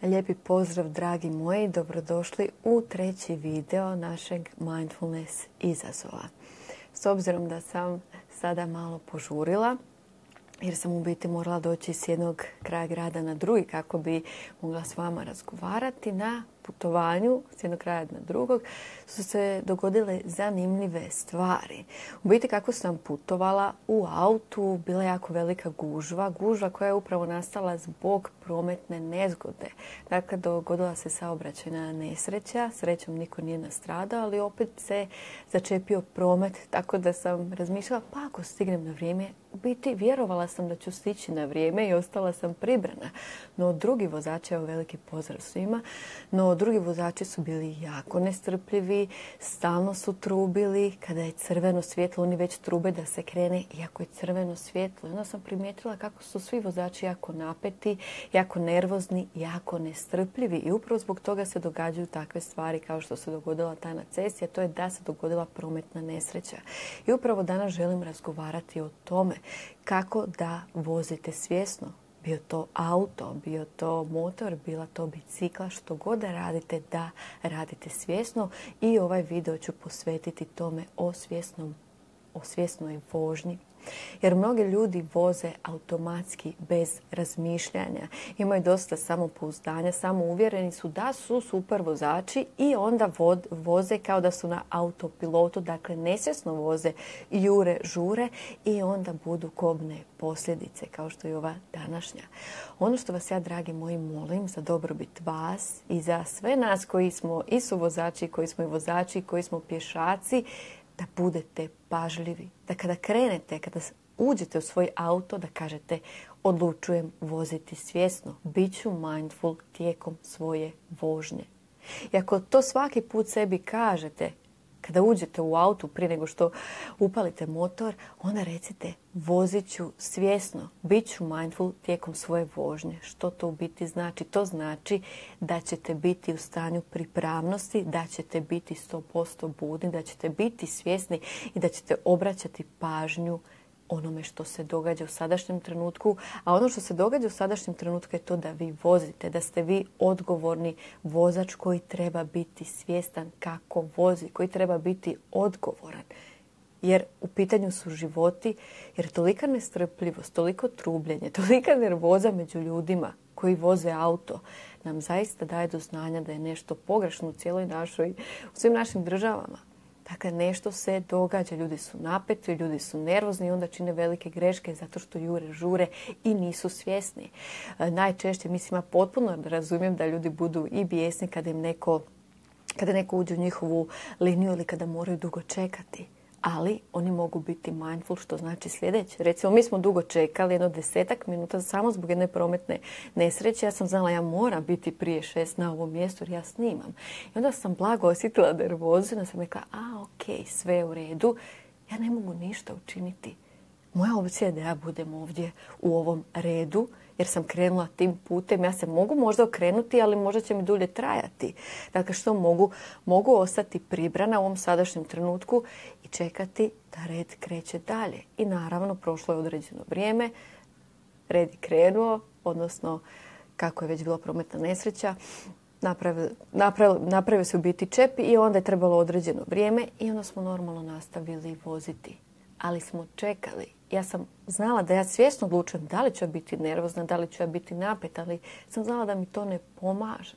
Lijepi pozdrav, dragi moji, dobrodošli u treći video našeg Mindfulness izazova. S obzirom da sam sada malo požurila, jer sam u biti morala doći s jednog kraja grada na drugi kako bi mogla s vama razgovarati, na putovanju s jednog kraja na drugog su se dogodile zanimljive stvari. U biti kako sam putovala u autu, bila je jako velika gužva koja je upravo nastala zbog prometne nezgode. Dakle, dogodila se saobraćajna nesreća, srećom niko nije nastradao, ali opet se začepio promet, tako da sam razmišljala pa ako stignem na vrijeme, u biti vjerovala sam da ću stići na vrijeme i ostala sam pribrana. No drugi vozači, evo veliki pozdrav svima, no drugi vozači su bili jako nestrpljivi, stalno su trubili, kada je crveno svjetlo, oni već trube da se krene, iako je crveno svjetlo. Onda sam primijetila kako su svi vozači jako napeti, jako nervozni, jako nestrpljivi i upravo zbog toga se događaju takve stvari kao što se dogodila ta na cesti, a to je da se dogodila prometna nesreća. I upravo danas želim razgovarati o tome kako da vozite svjesno. Bio to auto, bio to motor, bila to bicikla, što god da radite svjesno. I ovaj video ću posvetiti tome o svjesnoj vožnji. Jer mnogi ljudi voze automatski bez razmišljanja. Imaju dosta samopouzdanja, samouvjereni su da su super vozači i onda voze kao da su na autopilotu. Dakle, nesvjesno voze, jure, žure i onda budu kobne posljedice kao što je ova današnja. Ono što vas ja, dragi moji, molim za dobrobit vas i za sve nas koji smo i su vozači, koji smo i vozači, koji smo pješaci, da budete pažljivi, da kada krenete, kada uđete u svoj auto, da kažete odlučujem voziti svjesno, bit ću mindful tijekom svoje vožnje. I ako to svaki put sebi kažete, kada uđete u auto prije nego što upalite motor, onda recite vozit ću svjesno, bit ću mindful tijekom svoje vožnje. Što to u biti znači? To znači da ćete biti u stanju pripravnosti, da ćete biti 100% budni, da ćete biti svjesni i da ćete obraćati pažnju onome što se događa u sadašnjem trenutku. A ono što se događa u sadašnjem trenutku je to da vi vozite, da ste vi odgovorni vozač koji treba biti svjestan kako vozi, koji treba biti odgovoran. Jer u pitanju su životi, jer tolika nestrpljivost, toliko trubljenje, tolika nervoza među ljudima koji voze auto nam zaista daje do znanja da je nešto pogrešno u cijeloj našoj, u svim našim državama. Dakle, nešto se događa, ljudi su napeti, ljudi su nervozni i onda čine velike greške zato što jure, žure i nisu svjesni. Najčešće, mislim, ja potpuno razumijem da ljudi budu i bijesni kada neko uđe u njihovu liniju ili kada moraju dugo čekati. Ali oni mogu biti mindful, što znači sljedeće. Recimo, mi smo dugo čekali, jedno 10 minuta samo zbog jedne prometne nesreće. Ja sam znala ja moram biti prije 6 na ovom mjestu jer ja snimam. I onda sam blago osjetila nervozu i onda sam rekla, ok, sve je u redu. Ja ne mogu ništa učiniti. Moja opcija je da ja budem ovdje u ovom redu jer sam krenula tim putem. Ja se mogu možda okrenuti, ali možda će mi dulje trajati. Dakle, što mogu? Mogu ostati pribrana u ovom sadašnjem trenutku i čekati da red kreće dalje. I naravno, prošlo je određeno vrijeme, red je krenuo, odnosno kako je već bila prometna nesreća, napravio se u biti čep i onda je trebalo određeno vrijeme i onda smo normalno nastavili voziti. Ali smo čekali. Ja sam znala da ja svjesno odlučujem da li ću biti nervozna, da li ću ja biti napet, ali sam znala da mi to ne pomaže.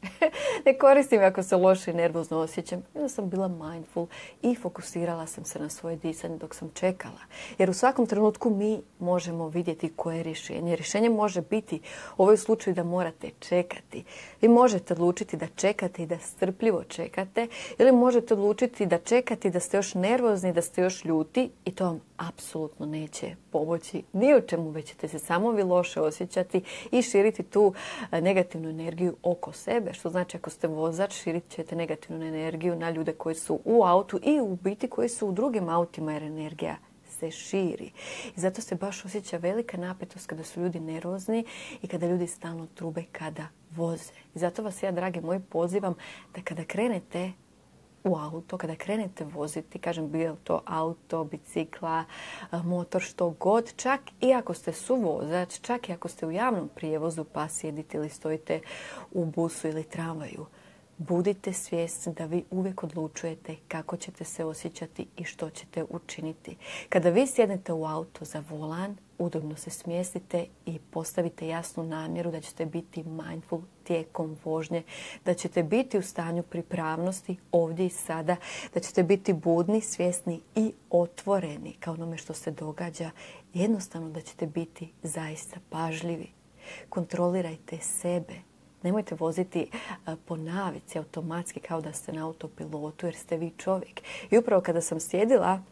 Ne koristim ako se loše i nervozno osjećam. Onda sam bila mindful i fokusirala sam se na svoje disanje dok sam čekala. Jer u svakom trenutku mi možemo vidjeti koje je rješenje. Rješenje može biti u ovoj slučaju da morate čekati. Vi možete odlučiti da čekate i da strpljivo čekate ili možete odlučiti da čekate i da ste još nervozni, da ste još ljuti i to vam apsolutno neće pomoći ni u čemu, već ćete se samo vi loše osjećati i širiti tu negativnu energiju oko sebe. Što znači ako ste vozač, širit ćete negativnu energiju na ljude koji su u autu i u biti koji su u drugim autima jer energija se širi. I zato se baš osjeća velika napetost kada su ljudi nervozni i kada ljudi stalno trube kada voze. I zato vas ja, dragi moji, pozivam da kada krenete u auto, kada krenete voziti, kažem bio to auto, bicikla, motor, što god, čak i ako ste suvozač, čak i ako ste u javnom prijevozu pa sjedite ili stojite u busu ili tramvaju, budite svjesni da vi uvijek odlučujete kako ćete se osjećati i što ćete učiniti. Kada vi sjednete u auto za volan, udobno se smjestite i postavite jasnu namjeru da ćete biti mindful tijekom vožnje, da ćete biti u stanju pripravnosti ovdje i sada, da ćete biti budni, svjesni i otvoreni kao onome što se događa. Jednostavno da ćete biti zaista pažljivi. Kontrolirajte sebe. Nemojte voziti po navici automatski kao da ste na autopilotu jer ste vi čovjek. I upravo kada sam sjedila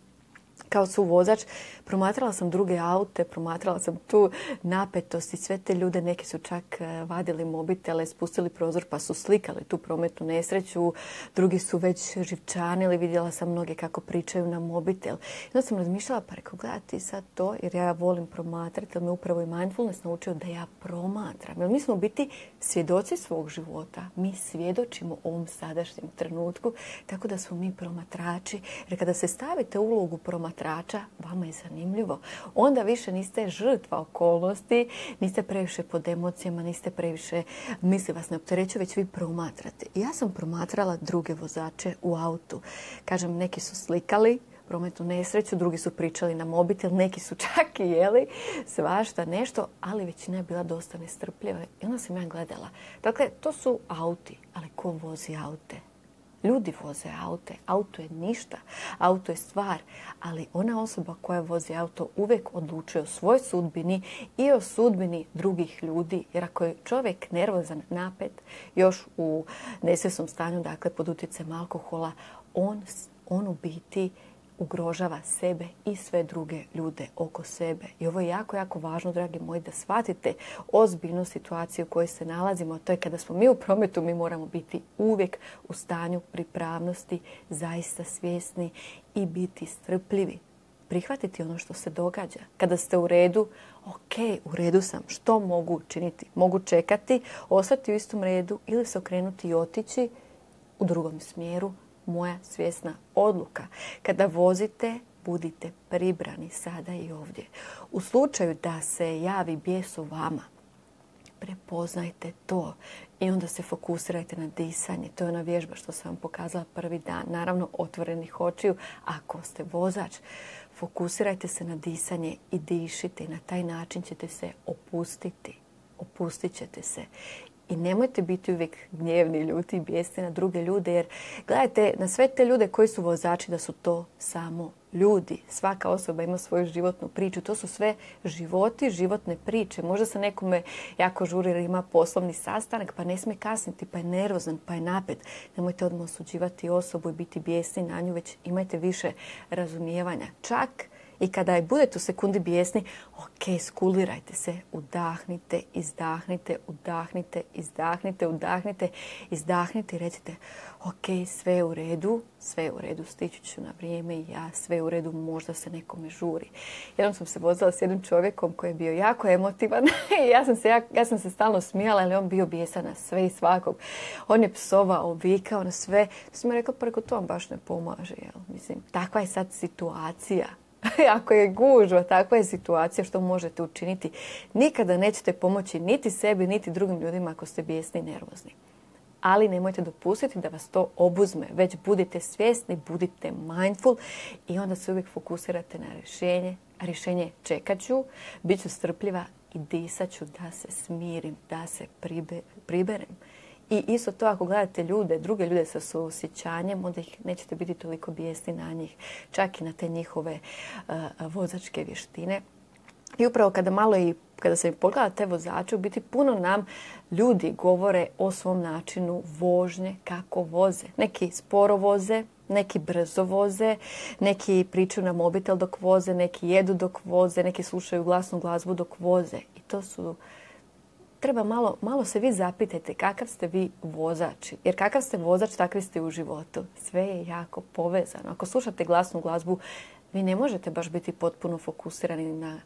kao suvozač, promatrala sam druge aute, promatrala sam tu napetost i sve te ljude. Neki su čak vadili mobitele, spustili prozor pa su slikali tu prometnu nesreću. Drugi su već živčanili, vidjela sam mnoge kako pričaju na mobitel. I onda sam razmišljala, pa rekao, gledati sad to, jer ja volim promatrati, jer me upravo i mindfulness naučio da ja promatram. Jer mi smo biti svjedoci svog života. Mi svjedočimo ovom sadašnjem trenutku, tako da smo mi promatrači. Jer kada se stavite u ulogu promatrača, vama je zanimljivo. Onda više niste žrtva okolnosti, niste previše pod emocijama, niste previše misli vas ne opterećuju, već vi promatrate. I ja sam promatrala druge vozače u autu. Kažem, neki su slikali prometnu nesreću, drugi su pričali na mobitel, neki su čak i jeli svašta nešto, ali većina je bila dosta nestrpljiva. I onda sam ja gledala. Dakle, to su auti, ali ko vozi aute? Ljudi voze aute. Auto je ništa. Auto je stvar. Ali ona osoba koja vozi auto uvijek odlučuje o svojoj sudbini i o sudbini drugih ljudi. Jer ako je čovjek nervozan, napet, još u nesvjesnom stanju, dakle pod utjecajem alkohola, on u biti ugrožava sebe i sve druge ljude oko sebe. I ovo je jako, jako važno, dragi moji, da shvatite ozbiljnu situaciju u kojoj se nalazimo. To je kada smo mi u prometu, mi moramo biti uvijek u stanju pripravnosti, zaista svjesni i biti strpljivi. Prihvatiti ono što se događa. Kada ste u redu, ok, u redu sam, što mogu učiniti? Mogu čekati, ostati u istom redu ili se okrenuti i otići u drugom smjeru. Moja svjesna odluka. Kada vozite, budite pribrani sada i ovdje. U slučaju da se javi bijes u vama, prepoznajte to i onda se fokusirajte na disanje. To je ona vježba što sam vam pokazala prvi dan. Naravno, otvorenih očiju. Ako ste vozač, fokusirajte se na disanje i dišite. I na taj način ćete se opustiti. Opustit ćete se. I nemojte biti uvijek gnjevni, ljuti i bijesni na druge ljude, jer gledajte na sve te ljude koji su vozači da su to samo ljudi. Svaka osoba ima svoju životnu priču. To su sve životi, životne priče. Možda se nekome jako žuri jer ima poslovni sastanak pa ne smije kasniti, pa je nervozan, pa je napet. Nemojte odmah osuđivati osobu i biti bijesni na nju, već imajte više razumijevanja. Čak i kada budete u sekundi bijesni, ok, skulirajte se, udahnite, izdahnite, udahnite, izdahnite, udahnite, izdahnite i recite, ok, sve je u redu, stići ću na vrijeme i ja, sve je u redu, možda se nekome žuri. Jednom sam se vozila s jednim čovjekom koji je bio jako emotivan i ja sam se stalno smijala, ali on bio bijesan na sve i svakog. On je psovao, vikao na sve. Sam rekla, pa reko, to vam baš ne pomaže, jel? Mislim, takva je sad situacija. Ako je gužva, takva je situacija, što možete učiniti. Nikada nećete pomoći niti sebi, niti drugim ljudima ako ste bijesni i nervozni. Ali nemojte dopustiti da vas to obuzme. Već budite svjesni, budite mindful i onda se uvijek fokusirate na rješenje. A rješenje čekat ću, bit ću strpljiva i disat ću da se smirim, da se priberem. I isto to ako gledate druge ljude sa suosjećanjem, onda ih nećete biti toliko bijesni na njih, čak i na te njihove vozačke vještine. I upravo kada se pogleda te vozače, u biti puno nam ljudi govore o svom načinu vožnje, kako voze. Neki sporo voze, neki brzo voze, neki pričaju na mobitel dok voze, neki jedu dok voze, neki slušaju glasnu glazbu dok voze. I to su... Treba malo se vi zapitajte kakav ste vi vozač. Jer kakav ste vozač, takvi ste u životu. Sve je jako povezano. Ako slušate glasnu glazbu, vi ne možete baš biti potpuno fokusirani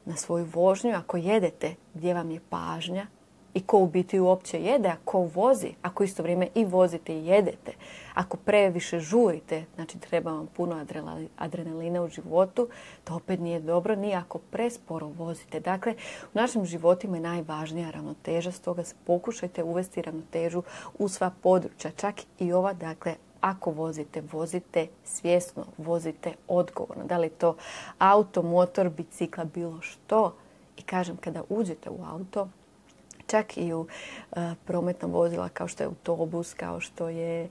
na svoju vožnju. Ako jedete, gdje vam je pažnja? i ko u biti uopće jede, a ko vozi, ako isto vrijeme i vozite i jedete. Ako previše žurite, znači treba vam puno adrenalina u životu, to opet nije dobro, ni ako presporo vozite. Dakle, u našim životima je najvažnija ravnoteža, stoga pokušajte uvesti ravnotežu u sva područja, čak i ova, dakle, ako vozite, vozite svjesno, vozite odgovorno. Da li je to auto, motor, bicikla, bilo što. I kažem, kada uđete u auto, čak i u prometna vozila kao što je autobus, kao što je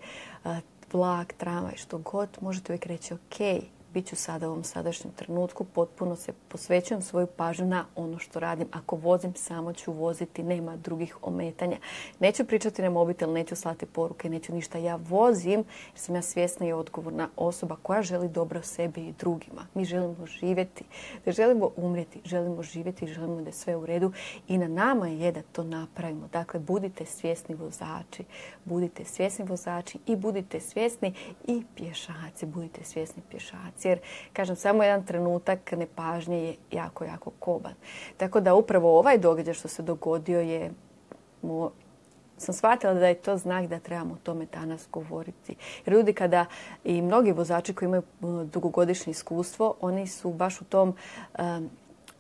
vlak, tramvaj, što god, možete uvijek reći ok, bit ću sada u ovom sadašnjem trenutku, potpuno se posvećujem svoju pažnju na ono što radim. Ako vozim, samo ću voziti, nema drugih ometanja. Neću pričati na mobitel, neću slati poruke, neću ništa. Ja vozim jer sam ja svjesna i odgovorna osoba koja želi dobro sebi i drugima. Mi želimo živjeti, ne želimo umrijeti, želimo živjeti i želimo da je sve u redu. I na nama je da to napravimo. Dakle, budite svjesni vozači. Budite svjesni vozači i budite svjesni i pješaci. Budite svjesni pješaci. Jer, kažem, samo jedan trenutak nepažnje je jako, jako koban. Tako da upravo ovaj događaj što se dogodio je, sam shvatila da je to znak da trebamo o tome danas govoriti. Jer ljudi kada, i mnogi vozači koji imaju dugogodišnje iskustvo, oni su baš u tom,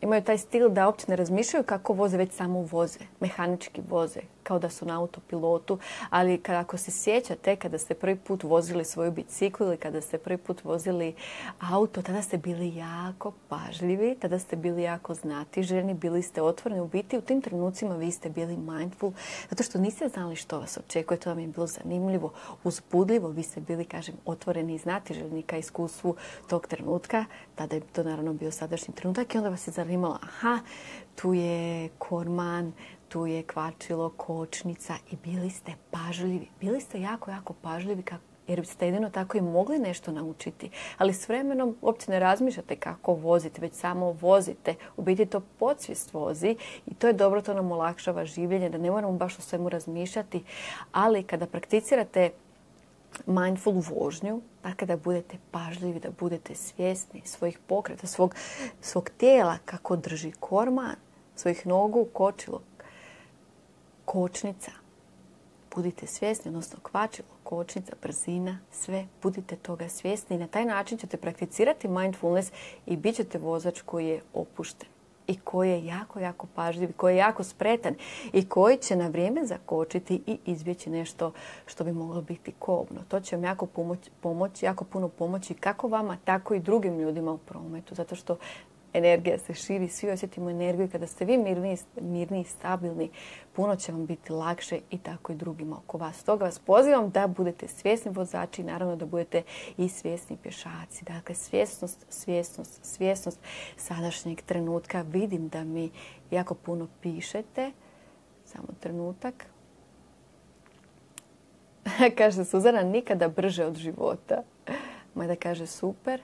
imaju taj stil da uopće ne razmišljaju kako voze, već samo voze, mehanički voze, kao da su na autopilotu. Ali ako se sjećate, kada ste prvi put vozili svoju biciklu ili kada ste prvi put vozili auto, tada ste bili jako pažljivi, tada ste bili jako znatiželjni, bili ste otvoreni. U biti u tim trenucima vi ste bili mindful, zato što niste znali što vas očekuje, to vam je bilo zanimljivo, uzbudljivo, vi ste bili, kažem, otvoreni i znatiželjni ka iskustvu tog trenutka. Tada je to naravno bio sadašnji trenutak i onda vas je zanimalo, aha, tu je korman, tu je kvačilo, kočnica i bili ste pažljivi. Bili ste jako, jako pažljivi jer ste jedino tako i mogli nešto naučiti. Ali s vremenom uopće ne razmišljate kako vozite, već samo vozite. U biti to podsvijest vozi i to je dobro, to nam olakšava življenje, da ne moramo baš o svemu razmišljati. Ali kada prakticirate mindful vožnju, dakle da budete pažljivi, da budete svjesni svojih pokreta, svog tijela, kako drži korman, svojih nogu, kočilo, kočnica. Budite svjesni, odnosno kvačilo, kočnica, brzina, sve. Budite toga svjesni i na taj način ćete prakticirati mindfulness i bit ćete vozač koji je opušten i koji je jako, jako pažljiv, koji je jako spretan i koji će na vrijeme zakočiti i izbjeći nešto što bi moglo biti kobno. To će vam jako puno pomoći kako vama, tako i drugim ljudima u prometu, zato što energija se širi, svi osjetimo energiju i kada ste vi mirni i stabilni, puno će vam biti lakše i tako i drugima oko vas. Stoga vas pozivam da budete svjesni vozači i naravno da budete i svjesni pješaci. Dakle, svjesnost sadašnjeg trenutka. Vidim da mi jako puno pišete. Samo trenutak. Kaže Suzana, nikada brže od života. Majda kaže super.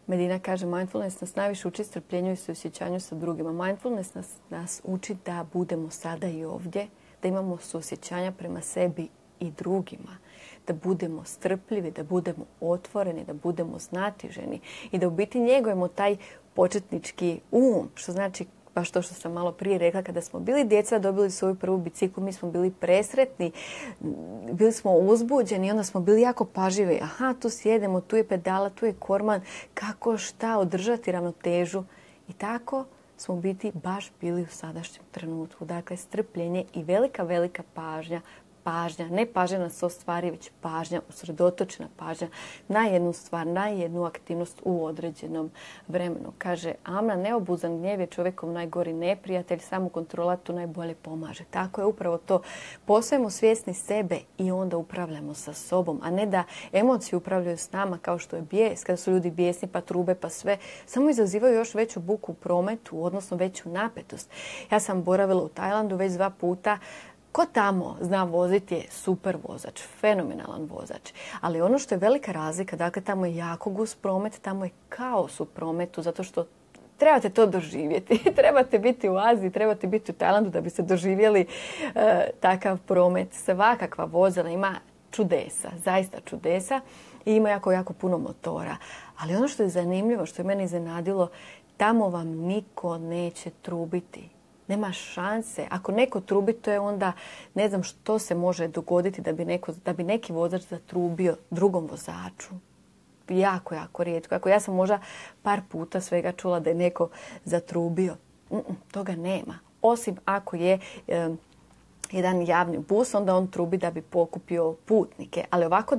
Medina kaže, mindfulness nas najviše uči strpljenju i suosjećanju sa drugima. Mindfulness nas uči da budemo sada i ovdje, da imamo suosjećanja prema sebi i drugima, da budemo strpljivi, da budemo otvoreni, da budemo znatiženi i da u biti njegujemo taj početnički što znači baš to što sam malo prije rekla, kada smo bili djeca, dobili svoju prvu biciklu, mi smo bili presretni, bili smo uzbuđeni i onda smo bili jako pažljivi. Aha, tu sjedemo, tu je pedala, tu je korman, kako šta održati ravnotežu. I tako smo u biti baš bili u sadašnjem trenutku. Dakle, strpljenje i velika, velika pažnja. Ne pažnja na 100 stvari, već pažnja, usredotočena pažnja na jednu stvar, na jednu aktivnost u određenom vremenu. Kaže Amna, neobuzan gnjev je čovjekom najgori neprijatelj, samo kontrola tu najbolje pomaže. Tako je upravo to. Postajemo svjesni sebe i onda upravljamo sa sobom, a ne da emocije upravljaju s nama kao što je bijes, kada su ljudi bijesni pa trube pa sve. Samo izazivaju još veću buku u prometu, odnosno veću napetost. Ja sam boravila u Tajlandu već 2 puta. Ko tamo zna voziti je super vozač, fenomenalan vozač. Ali ono što je velika razlika, dakle tamo je jako gust promet, tamo je kaos u prometu, zato što trebate to doživjeti. Trebate biti u Aziji, trebate biti u Tajlandu da biste doživjeli takav promet. Svakakva vozila ima čudesa, zaista čudesa i ima jako, jako puno motora. Ali ono što je zanimljivo, što je mene iznenadilo, tamo vam niko neće trubiti. Nema šanse. Ako neko trubi, to je onda, ne znam što se može dogoditi da bi neki vozač zatrubio drugom vozaču. Jako, jako rijetko. Ako ja sam možda par puta svega čula da je neko zatrubio. Toga nema. Osim ako je jedan javni bus, onda on trubi da bi pokupio putnike. Ali ovako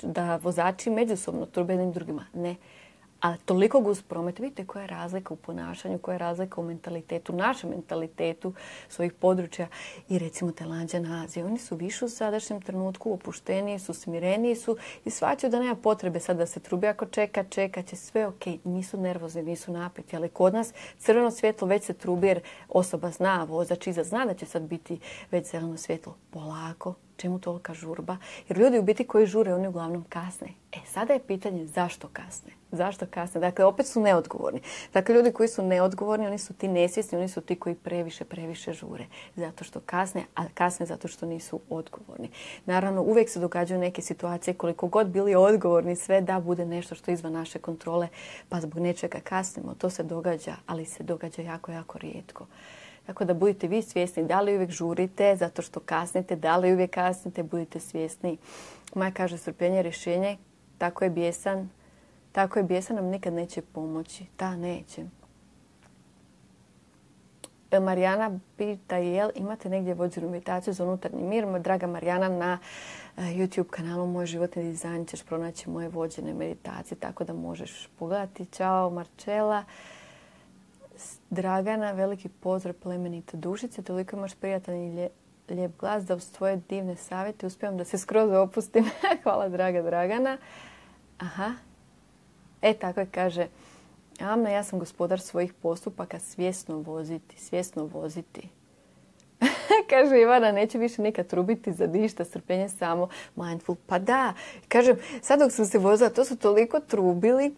da vozači međusobno trube jednim drugima, ne. Ali toliko gust promet, vidite koja je razlika u ponašanju, koja je razlika u mentalitetu, našem mentalitetu svojih područja i recimo Tajlanđana, Azije. Oni su više u sadašnjem trenutku, opušteniji su, smireniji su i shvaćaju da nema potrebe sad da se trubi. Ako čeka će sve ok, nisu nervozni, nisu napeti. Ali kod nas crveno svjetlo već se trubi jer osoba zna, vozač iza zna da će sad biti već zeleno svjetlo. Polako. Čemu tolika žurba? Jer ljudi u biti koji žure, oni uglavnom kasne. Sada je pitanje zašto kasne? Zašto kasne? Dakle, opet su neodgovorni. Dakle, ljudi koji su neodgovorni, oni su ti nesvjesni, oni su ti koji previše žure. Zato što kasne, a kasne zato što nisu odgovorni. Naravno, uvijek se događaju neke situacije, koliko god bili odgovorni, sve da bude nešto što je izvan naše kontrole, pa zbog nečega kasnimo. To se događa, ali se događa jako, jako rijetko. Tako da budite vi svjesni da li uvijek žurite zato što kasnite, da li uvijek kasnite, budite svjesni. Maja kaže strpljenje je rješenje, tako je bijesan nam nikad neće pomoći. Da, neće. Marijana pita jel imate negdje vođenu meditaciju za unutarnji mir? Draga Marijana, na YouTube kanalu Moj životni dizajn ćeš pronaći moje vođene meditacije, tako da možeš pogledati. Ćao Marčela. Dragana, veliki pozdrav plemenite dušice, toliko imaš prijatan i lijep glas da uz tvoje divne savjete uspijem da se skroz opustim. Hvala draga Dragana. Aha. Tako je, kaže Amna, ja sam gospodar svojih postupaka, svjesno voziti. Kaže Ivana, neće više nikad trubiti za ništa, strpljenje samo, mindful. Pa da, kažem, sad dok sam se vozila, to su toliko trubili.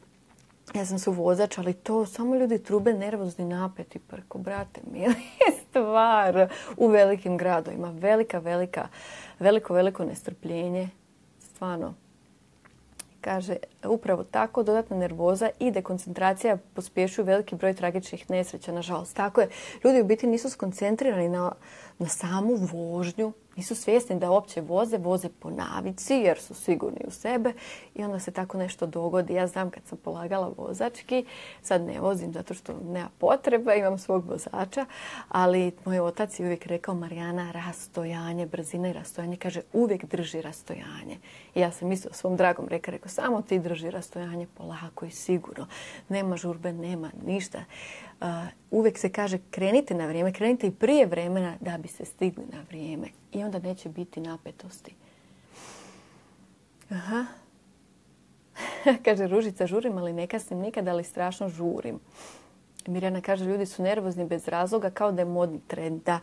Ja sam su vozač, ali to samo ljudi trube nervozni napeti prko, brate mili, stvar u velikim gradovima. Veliko nestrpljenje, stvarno. Kaže, upravo tako, dodatna nervoza i dekoncentracija pospješuju veliki broj tragičnih nesreća, nažalost. Tako je, ljudi u biti nisu skoncentrirani na samu vožnju, nisu svjesni da uopće voze po navici jer su sigurni u sebe i onda se tako nešto dogodi. Ja znam kad sam polagala vozački, sad ne vozim zato što nema potrebe, imam svog vozača, ali moj otac je uvijek rekao Marijana, rastojanje, brzina i rastojanje, kaže uvijek drži rastojanje. I ja sam isto svom dragom rekao, samo ti drži rastojanje polako i sigurno. Nema žurbe, nema ništa. Uvijek se kaže krenite na vrijeme, krenite i prije vremena da bi se stigli na vrijeme. I onda neće biti napetosti. Aha. Kaže Ružica, žurim, ali ne kasnim nikad, ali strašno žurim. Mirjana kaže, ljudi su nervozni bez razloga kao da je modni trend. Da,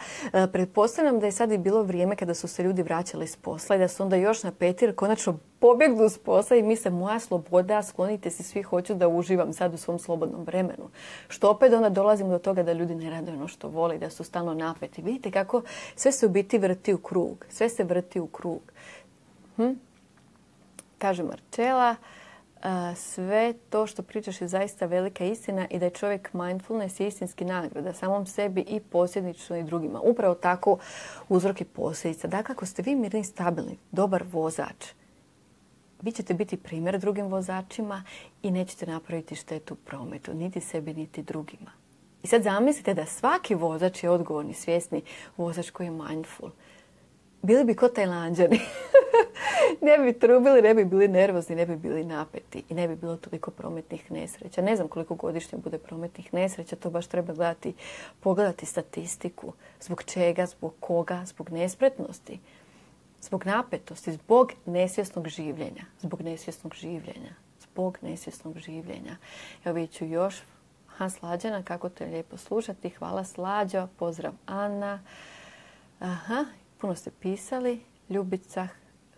pretpostavljam da je sad i bilo vrijeme kada su se ljudi vraćali s posla i da su onda još napeti jer konačno pobjegnu s posla i misle moja sloboda, sklonite se svi, hoću da uživam sad u svom slobodnom vremenu. Što opet onda dolazimo do toga da ljudi ne rade ono što vole, da su stalno napeti. Vidite kako sve se u biti vrti u krug. Sve se vrti u krug. Kaže Marčela, sve to što pričaš je zaista velika istina i da je čovjek mindfulness je istinski nagrada samom sebi i posljedično i drugima. Upravo tako uzrok i posljedica. Dakle, ako ste vi mirni, stabilni, dobar vozač, vi ćete biti primjer drugim vozačima i nećete napraviti štetu u prometu, niti sebi, niti drugima. I sad zamislite da svaki vozač je odgovorni, svjesni vozač koji je mindful. Bili bi ko Tajlanđani. Ne bi trubili, ne bi bili nervozni, ne bi bili napeti i ne bi bilo toliko prometnih nesreća. Ne znam koliko godišnje bude prometnih nesreća, to baš treba pogledati statistiku. Zbog čega, zbog koga, zbog nespretnosti, zbog napetosti, zbog nesvjesnog življenja. Evo vidjet ću još. Slađana, kako te je lijepo slušati. Hvala Slađo, pozdrav Ana. Puno ste pisali. Ljubica,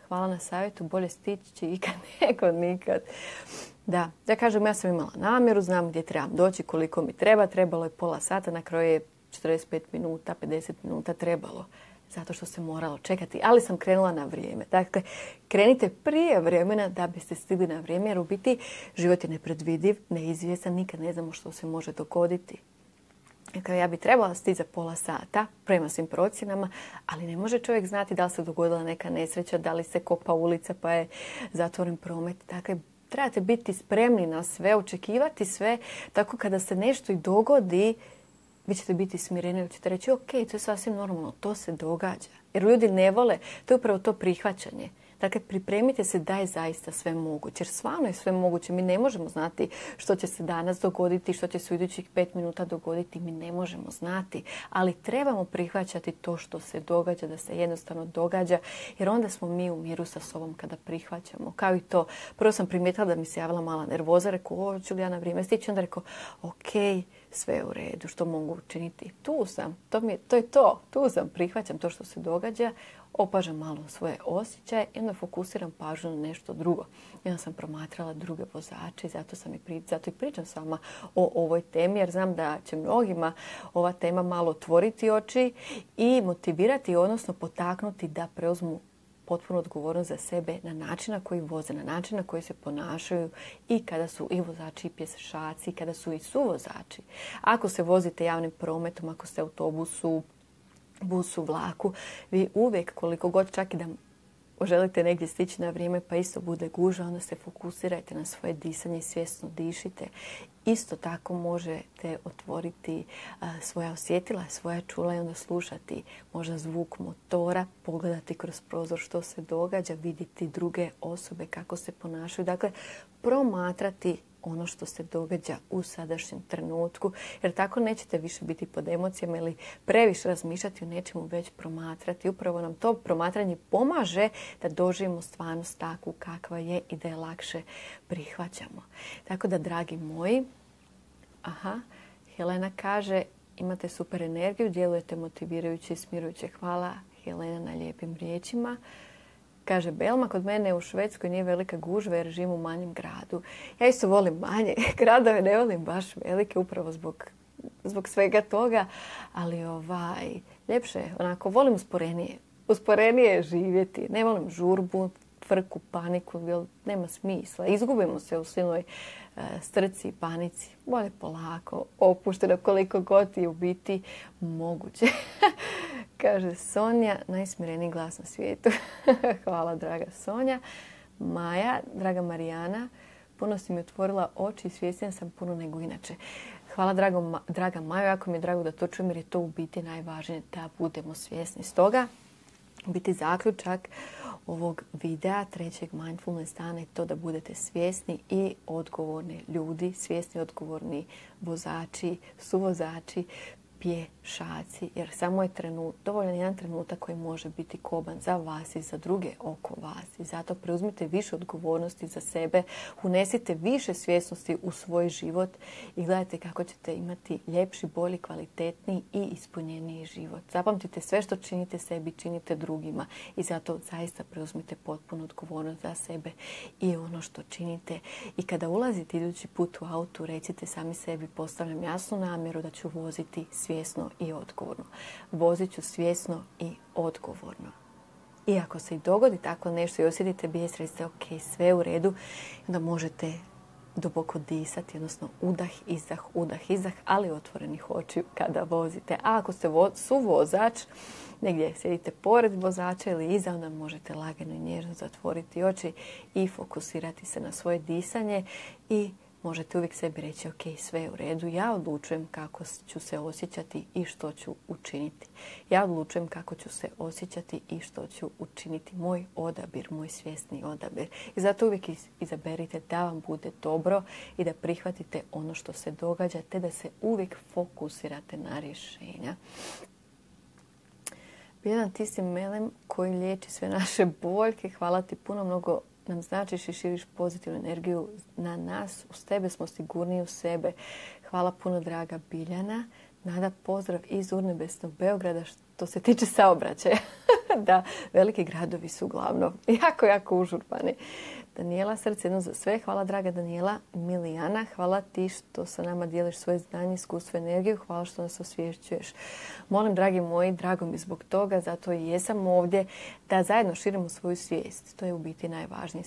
hvala na savjetu, bolje stići ikad nego nikad. Da, ja kažem, ja sam imala namjeru, znam gdje trebam doći, koliko mi treba. Trebalo je pola sata, na kraju je 45 minuta, 50 minuta trebalo. Zato što se moralo čekati, ali sam krenula na vrijeme. Dakle, krenite prije vremena da biste stigli na vrijeme, jer u biti život je nepredvidiv, neizvjestan, nikad ne znamo što se može dogoditi. Ja bi trebala stići za pola sata prema svim procjenama, ali ne može čovjek znati da li se dogodila neka nesreća, da li se kopa ulica pa je zatvoren promet. Dakle, trebate biti spremni na sve, očekivati sve. Tako kada se nešto i dogodi, vi ćete biti smireni, vi ćete reći ok, to je sasvim normalno, to se događa. Jer ljudi ne vole, to je upravo to prihvaćanje. Dakle, pripremite se da je zaista sve moguće. Jer stvarno je sve moguće. Mi ne možemo znati što će se danas dogoditi, što će se u idućih 5 minuta dogoditi. Mi ne možemo znati. Ali trebamo prihvaćati to što se događa, da se jednostavno događa. Jer onda smo mi u miru sa sobom kada prihvaćamo. Kao i to. Prvo sam primijetila da mi se javila mala nervoza. Rekao, ću li ja na vrijeme stići? Onda rekao, ok, sve je u redu. Što mogu učiniti? Tu sam. To je to. Tu sam. Prihvaćam to što se događa. Opažam malo svoje osjećaje i onda fokusiram pažnju na nešto drugo. I onda sam promatrala druge vozače i zato i pričam s vama o ovoj temi, jer znam da će mnogima ova tema malo otvoriti oči i motivirati, odnosno potaknuti da preuzmu potpuno odgovornost za sebe na način na koji voze, na način na koji se ponašaju i kada su i vozači i pješaci, kada su i suvozači. Ako se vozite javnim prometom, ako ste u autobusu, busu, vlaku, vi uvijek, koliko god čak i da želite negdje stići na vrijeme pa isto bude gužva, onda se fokusirajte na svoje disanje i svjesno dišite. Isto tako možete otvoriti svoja osjetila, svoja čula i onda slušati možda zvuk motora, pogledati kroz prozor što se događa, vidjeti druge osobe kako se ponašaju. Dakle, promatrati ono što se događa u sadašnjem trenutku, jer tako nećete više biti pod emocijama ili previše razmišljati o nečemu, već promatrati. Upravo nam to promatranje pomaže da doživimo stvarnost takvu kakva je i da je lakše prihvaćamo. Tako da, dragi moji, Helena kaže, imate super energiju, djelujete motivirajuće i smirujuće. Hvala, Helena, na lijepim riječima. Kaže Belma, kod mene u Švedskoj nije velika gužva jer živim u manjem gradu. Ja isto volim manje gradove, ne volim baš velike upravo zbog svega toga, ali ljepše je, onako volim usporenije živjeti. Ne volim žurbu, frku, paniku, jer nema smisla. Izgubimo se u silnoj strci i panici. Bolje polako, opušteno koliko god je u biti moguće. Kaže Sonja, najsmireniji glas na svijetu. Hvala, draga Sonja. Maja, draga Marijana, puno si mi otvorila oči i svjesnija sam puno nego inače. Hvala, draga Maja, jako mi je drago da to čujem jer je to u biti najvažnije da budemo svjesni. Stoga, biti zaključak ovog videa, trećeg mindfulness dana, je to da budete svjesni i odgovorni ljudi, svjesni i odgovorni vozači, suvozači, pješaci, jer samo je dovoljan jedan trenutak koji može biti koban za vas i za druge oko vas. I zato preuzmite više odgovornosti za sebe, unesite više svjesnosti u svoj život i gledajte kako ćete imati ljepši, bolji, kvalitetniji i ispunjeniji život. Zapamtite, sve što činite sebi, činite drugima i zato zaista preuzmite potpunu odgovornost za sebe i ono što činite. I kada ulazite idući put u auto, recite sami sebi, postavljam jasnu namjeru da ću voziti svjesno i odgovorno. Vozit ću svjesno i odgovorno. I ako se i dogodi tako nešto i osjetite bijes, recite ok, sve u redu, onda možete duboko disati, odnosno udah, izdah, ali otvorenih očiju kada vozite. A ako ste suvozač, negdje sjedite pored vozača ili iza, onda možete lagano i nježno zatvoriti oči i fokusirati se na svoje disanje i možete uvijek sebi reći ok, sve je u redu, ja odlučujem kako ću se osjećati i što ću učiniti. Ja odlučujem kako ću se osjećati i što ću učiniti. Moj odabir, moj svjesni odabir. I zato uvijek izaberite da vam bude dobro i da prihvatite ono što se događa, te da se uvijek fokusirate na rješenja. Biljana, ti si melem koji liječi sve naše boljke. Hvala ti puno, mnogo nam značiš i širiš pozitivnu energiju na nas. Uz tebe smo sigurniji u sebe. Hvala puno, draga Biljana. Nada, pozdrav iz urnebesnog Beograda što se tiče saobraćaja. Da, veliki gradovi su uglavnom jako užurbani. Danijela, srce jedno za sve. Hvala draga Danijela. Milijana, hvala ti što sa nama dijeliš svoje znanje, iskustvo, energiju. Hvala što nas osvješćuješ. Molim, dragi moji, drago mi zbog toga, zato i jesam ovdje, da zajedno širimo svoju svijest. To je u biti najvažnije.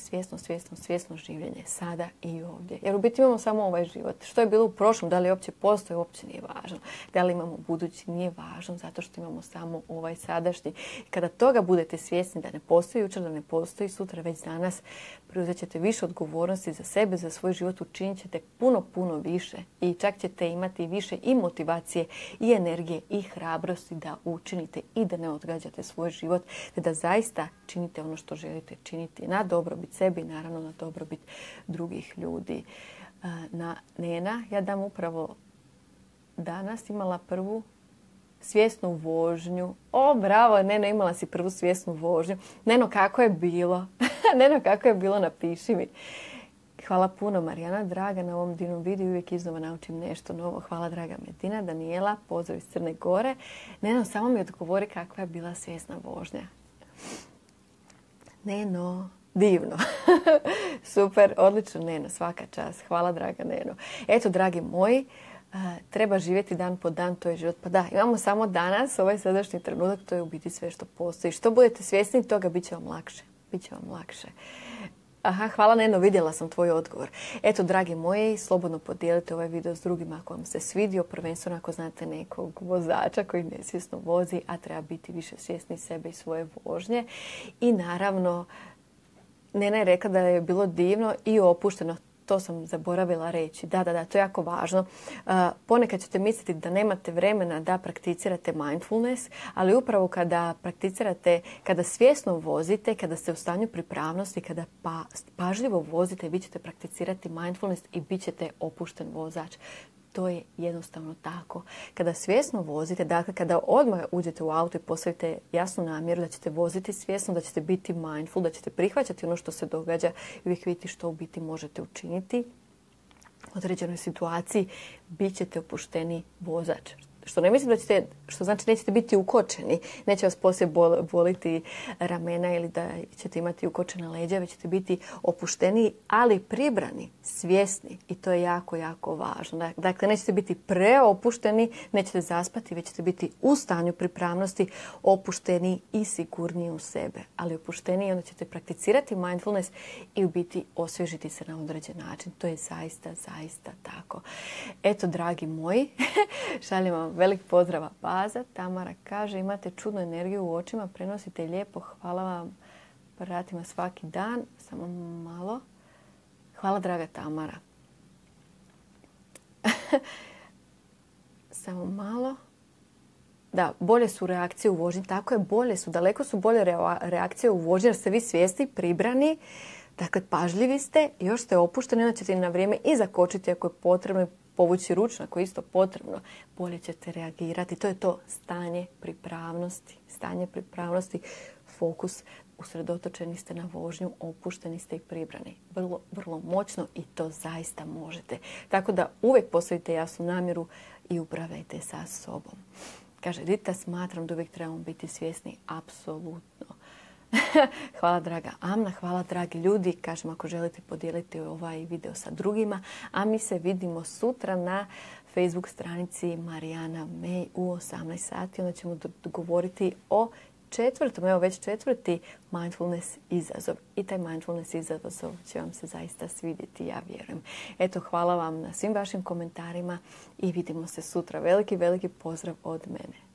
Svjesno življenje sada i ovdje. Jer u biti imamo samo ovaj život. Što je bilo u prošlom, da li uopće postoji, uopće nije važno. Da li imamo budući, nije važno, zato što imamo samo ovaj sadašnji. Kada toga budete svjesni da ne postoji jučer, da ne postoji sutra, već danas, preuzet ćete više odgovornosti za sebe, za svoj život, učinit ćete puno više i čak ćete imati više i motivacije i energije i hrabrosti da učinite i da ne odgađate svoj život, te da zaista činite ono što želite činiti na dobrobit sebi i naravno na dobrobit drugih ljudi. Nena, ja dam upravo danas imala prvu svjesnu vožnju. O, bravo, Neno, imala si prvu svjesnu vožnju. Neno, kako je bilo? Neno, kako je bilo? Napiši mi. Hvala puno, Marijana, draga, na ovom divnom videu. Uvijek iznova naučim nešto novo. Hvala, draga Medina. Danijela, pozdrav iz Crne Gore. Neno, samo mi odgovori kakva je bila svjesna vožnja. Neno, divno. Super, odlično, Neno, svaka čast. Hvala, draga Neno. Eto, dragi moji, treba živjeti dan po dan, to je život. Pa da, imamo samo danas, ovaj sadašnji trenutak, to je u biti sve što postoji. Što budete svjesni toga, bit će vam lakše. Biće vam lakše. Aha, hvala Neno, vidjela sam tvoj odgovor. Eto, dragi moji, slobodno podijelite ovaj video s drugima ako vam se svidio, prvenstveno ako znate nekog vozača koji nesvjesno vozi, a treba biti više svjesni sebe i svoje vožnje. I naravno, Nena je rekla da je bilo divno i opušteno. To sam zaboravila reći. Da, to je jako važno. Ponekad ćete misliti da nemate vremena da prakticirate mindfulness, ali upravo kada prakticirate, kada svjesno vozite, kada ste u stanju pripravnosti, kada pažljivo vozite, vi ćete prakticirati mindfulness i bit ćete opušten vozač. To je jednostavno tako. Kada svjesno vozite, dakle kada odmah uđete u auto i postavite jasnu namjeru da ćete voziti svjesno, da ćete biti mindful, da ćete prihvaćati ono što se događa i uvijek vidjeti što u biti možete učiniti u određenoj situaciji, bit ćete opušteni vozač. Što ne mislim da ćete, što znači nećete biti ukočeni, neće vas poslije boliti ramena ili da ćete imati ukočena leđa, već ćete biti opušteni, ali pribrani, svjesni i to je jako važno. Dakle, nećete biti preopušteni, nećete zaspati, već ćete biti u stanju pripravnosti, opušteni i sigurniji u sebe. Ali opušteni i onda ćete prakticirati mindfulness i u biti osvježiti se na određen način. To je zaista tako. Eto, dragi moji, šaljem vam velik pozdrav Baza. Tamara kaže, imate čudnu energiju u očima, prenosite lijepo, hvala vam, pratima svaki dan. Samo malo. Hvala, draga Tamara. Samo malo. Da, bolje su reakcije u vožnji. Tako je, daleko su bolje reakcije u vožnji jer ste vi svjesni, pribrani. Dakle, pažljivi ste, još ste opušteni, onda ćete na vrijeme i zakočiti ako je potrebno, povući ručno ako je isto potrebno, bolje ćete reagirati. To je to stanje pripravnosti, fokus, usredotočeni ste na vožnju, opušteni ste i pribrani. Vrlo moćno i to zaista možete. Tako da uvijek postavite jasnu namjeru i upravljajte sa sobom. Kaže Rita, smatram da uvijek trebamo biti svjesni, apsolutno. Hvala draga Amna, hvala dragi ljudi. Kažem, ako želite podijeliti ovaj video sa drugima, a mi se vidimo sutra na Facebook stranici Marijana May u 18 sati. Onda ćemo dogovoriti o četvrti mindfulness izazov. I taj mindfulness izazov će vam se zaista svidjeti, ja vjerujem. Eto, hvala vam na svim vašim komentarima i vidimo se sutra. Veliki pozdrav od mene.